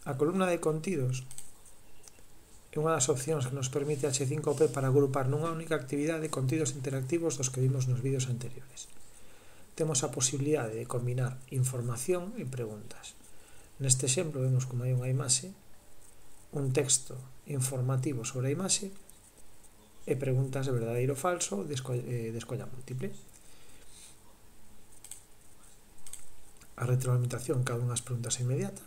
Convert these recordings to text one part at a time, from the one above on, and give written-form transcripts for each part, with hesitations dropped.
A columna de contidos é unha das opcións que nos permite H5P para agrupar nunha única actividade contidos interactivos dos que vimos nos vídeos anteriores. Temos a posibilidade de combinar información e preguntas. Neste exemplo vemos como hai unha imaxe, un texto informativo sobre a imaxe e preguntas de verdadeiro ou falso de escolla múltiple. A retroalimentación cada unha das preguntas é inmediata.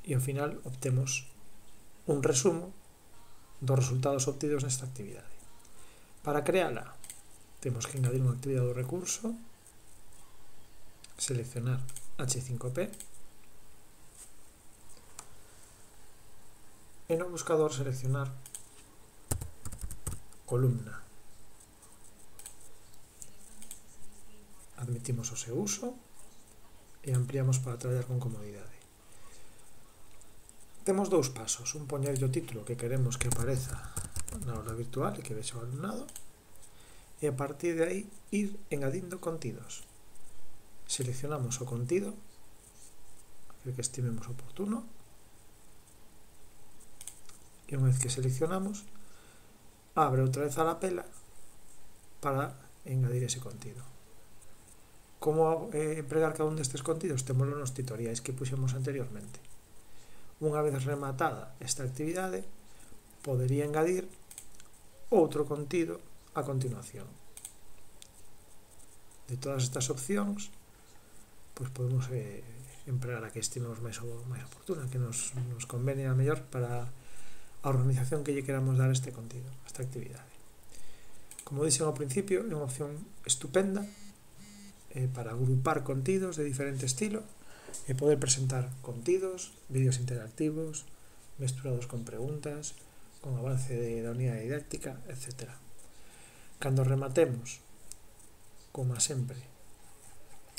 E ao final obtemos un resumo dos resultados obtidos nesta actividade. Para creala, temos que engadir unha actividade do recurso, seleccionar H5P e no buscador seleccionar columna. Admitimos o seu uso e ampliamos para traballar con comodidade. Temos dous pasos, un poñerlle o título que queremos que apareza na aula virtual e que vexa o alumnado, e a partir de aí ir engadindo contidos. Seleccionamos o contido, aquel que estimemos oportuno, e unha vez que seleccionamos, abre outra vez a lapela para engadir ese contido. Como empregar cada un destes contidos? Témoslo nos tutoriais que puxemos anteriormente. Unha vez rematada esta actividade, podería engadir outro contido a continuación. De todas estas opcións, pois podemos empregar a que estimemos máis oportuna, que nos convene a mellor para a organización que lle queramos dar a este contido, a esta actividade. Como dixen ao principio, é unha opción estupenda para agrupar contidos de diferente estilo e poder presentar contidos, vídeos interactivos, mesturados con preguntas, con avance da unidade didáctica, etc. Cando rematemos, como sempre,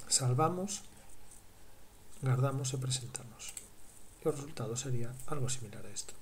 salvamos, guardamos e presentamos. E o resultado sería algo similar a isto.